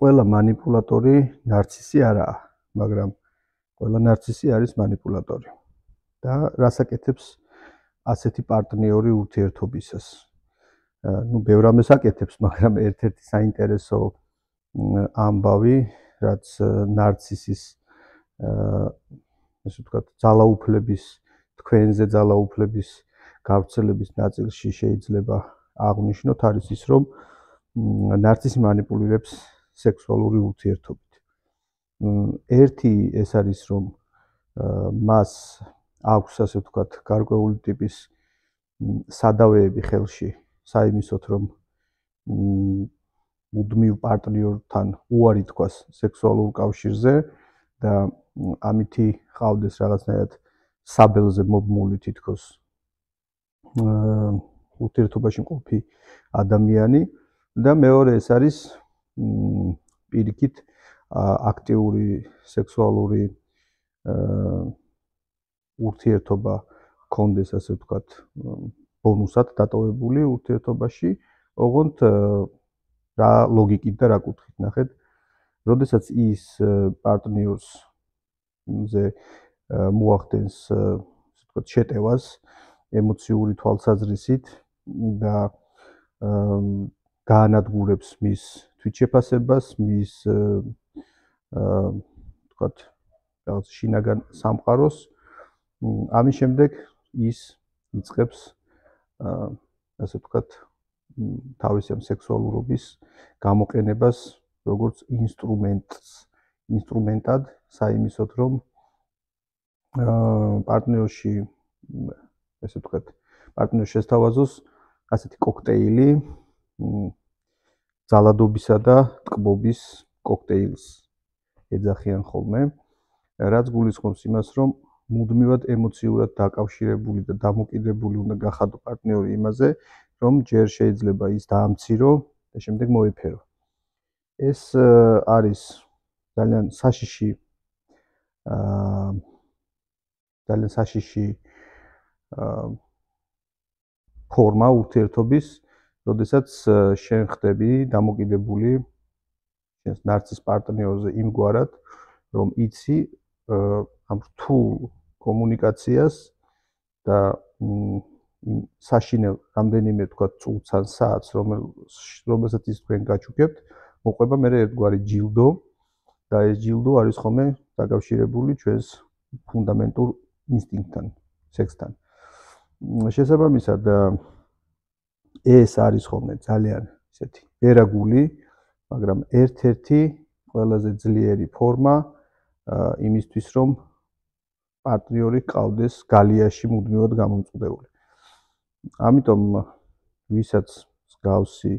ყველა манипуляტორი ნარცისი არაა, მაგრამ ყველა ნარცისი არის манипуляტორი. და რას აკეთებს ასეთი პარტნიორი ურთიერთობისას? ნუ ბევრ ამას აკეთებს, მაგრამ ერთ-ერთი საინტერესო ამბავი, რაც ნარცისის ესე ვთქვათ, ძალაუფლების, თქვენზე ძალაუფლების გავრცელების ნაწილში შეიძლება აღნიშნოთ, არის ის, რომ ნარცისი манипуლირებს სექსუალური ურთიერთობით. ერთი ეს არის, რომ მას აქვს, ასე ვთქვათ, გარკვეული ტიპის სადავეები ხელში, საიმისოთ, რომ მუდმივ პარტნიორთან უარი თქვას სექსუალურ კავშირზე და ამითი ყავდეს რაღაცნაირად საბელზე მობმული თითქოს ურთიერთობაში მყოფი ადამიანი და მეორე ეს არის პირიქით აქტიური სექსუალური ურთიერთობა კონდეს, ასე ვთქვათ, ბონუსად დატოვებული ურთიერთობაში, ოღონდ რა ლოგიკით და რა კუთხით ნახეთ, როდესაც ის პარტნიორს ზე მოახდენს, ასე ვთქვათ, შეტევას ემოციური თვალსაზრისით და გაანადგურებს მის თვითშეფასებას, მის ვთქვათ, რაღაც შინაგან სამყაროს, ამის შემდეგ ის იწყებს ასე ვთქვათ, თავისი ამ სექსუალურობის გამოყენებას როგორც ინსტრუმენტად, საიმისოთ, რომ პარტნიორში ესე ვთქვათ, პარტნიორს შესთავაზოს ასეთი კოქტეილი ძალადობისა და ტკბობის კოქტეილს ეძახიან ხოლმე, რაც გულისხმობს იმას, რომ მუდმივად ემოციურად დაკავშირებული და დამოკიდებული უნდა გახადო პარტნიორი იმაზე, რომ ჯერ შეიძლება ის დაამცირო და შემდეგ მოეფერო. ეს არის ძალიან საშიში ფორმა ურთიერთობის, როდესაც შენ ხდები დამოკიდებული შენს ნარცის პარტნიორზე იმგვარად, რომ იცი ამ რთულ კომუნიკაციას და საშინელ რამდენიმე თქვა წუთს ან საათს, რომელსაც ის თქვენ გაჩუქებთ, მოყვება მე ერთგვარი ჯილდო და ეს ჯილდო არის ხოლმე დაკავშირებული ჩვენს ფუნდამენტურ ინსტინქტთან, სექსთან. შესაბამისად, ეს არის ხოლმე ძალიან ისეთი ვერაგული, მაგრამ ერთ-ერთი ყველაზე ძლიერი ფორმა იმისთვის, რომ პარტნიორი ყავდეს გალიაში მუდმივად გამომწყდეული. ამიტომ ვისაც მსგავსი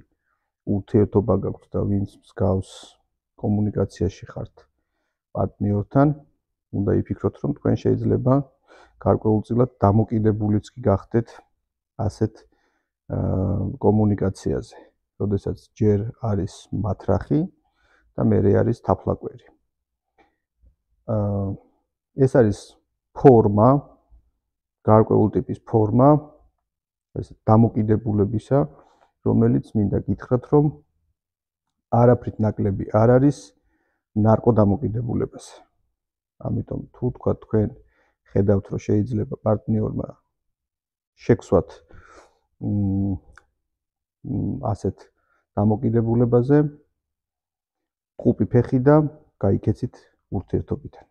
ურთიერთობა გაქვთ და ვინც მსგავს კომუნიკაციაში ხართ პარტნიორთან, უნდა იფიქროთ, რომ თქვენ შეიძლება გარკვეულწილად დამოკიდებულიც კი გახდეთ ასეთ კომუნიკაციაზე, როდესაც ჯერ არის მათრახი და მერე არის თაფლაკვერი. ეს არის ფორმა, გარკვეული ტიპის ფორმა, ეს დამოკიდებულებისა, რომელიც მინდა გითხრათ, რომ არაფრით ნაკლები არ არის ნარკოდამოკიდებულებაზე. ამიტომ თუ თქვა თქვენ ხედავთ, რომ შეიძლება პარტნიორმა შექსვათ ასეთ დამოკიდებულებაზე, ყუპი ფეხი და გაიქეცით ურთიერთობიდან.